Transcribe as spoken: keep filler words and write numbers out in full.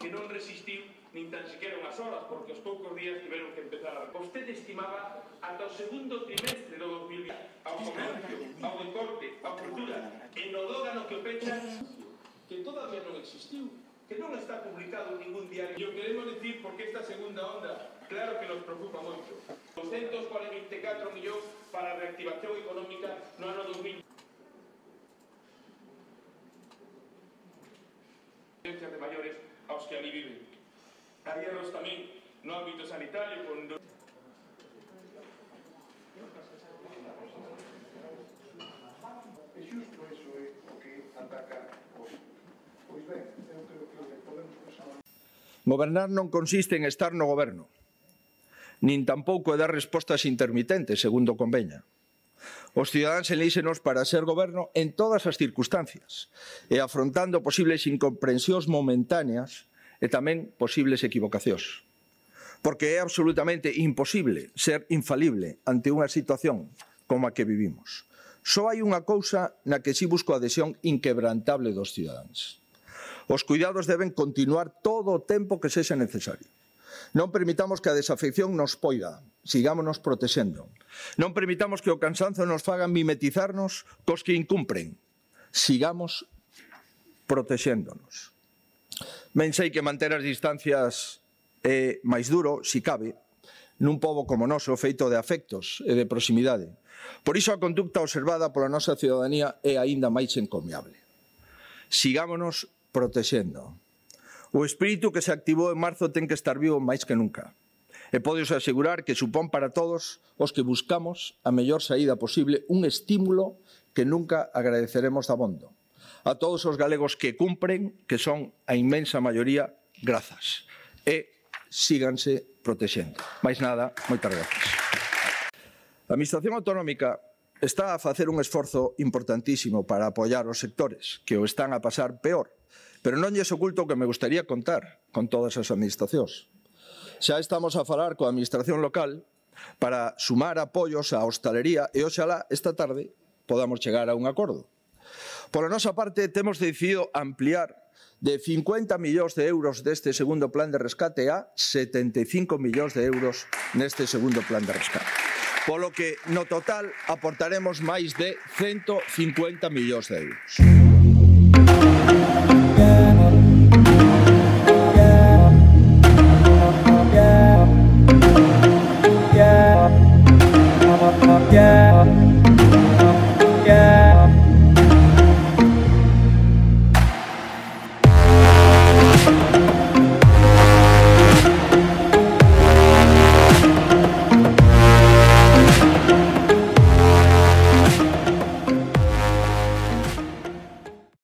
que non resistiu nin tan sequera unhas horas, porque os poucos días tiveron que empezar a... Vostede estimaba ata o segundo trimestre do dos mil vinte ao comercio, ao deporte, á cultura, en o dógano que o pecha, que todavía non existiu, que non está publicado en ningún diario. E o queremos decir porque esta segunda onda, claro que nos preocupa moito. doscientos cuarenta e catro millóns para a reactivación económica no ano dos mil. De maiores aos que ali viven. Hai erros tamén no ámbito sanitario con... É xusto iso é o que ataca os... Pois ben, eu creo que podemos pasar... Gobernar non consiste en estar no goberno, nin tampouco é dar respostas intermitentes, segundo conveña. Os cidadáns elíxenos para ser goberno en todas as circunstancias e afrontando posibles incomprensións momentáneas e tamén posibles equivocacións. Porque é absolutamente imposible ser infalible ante unha situación como a que vivimos. Só hai unha cousa na que si busco a adhesión inquebrantable dos cidadáns. Os cuidados deben continuar todo o tempo que sexa necesario. Non permitamos que a desafección nos poida, sigámonos protexendo. Non permitamos que o cansanzo nos faga mimetizarnos cos que incumpren, sigamos protexéndonos. Ben sei que manter as distancias é máis duro, si cabe, nun pobo como noso feito de afectos e de proximidade. Por iso a conducta observada pola nosa ciudadanía é aínda máis encomiable. Sigámonos protexendo. O espírito que se activou en marzo ten que estar vivo máis que nunca. E podes asegurar que supón para todos os que buscamos a mellor saída posible un estímulo que nunca agradeceremos dabondo. A todos os galegos que cumpren, que son a inmensa maioría, grazas. E síganse protexendo. Mais nada, moitas grazas. A Administración Autonómica está a facer un esforzo importantísimo para apoiar os sectores que o están a pasar peor, pero non lles oculto que me gustaría contar con todas as administracións. Xa estamos a falar coa Administración local para sumar apoios á hostalería e oxalá esta tarde podamos chegar a un acordo. Pola nosa parte, temos decidido ampliar de cincuenta millóns de euros deste segundo plan de rescate a setenta e cinco millóns de euros neste segundo plan de rescate. Polo que, no total, aportaremos máis de ciento cincuenta millóns de euros.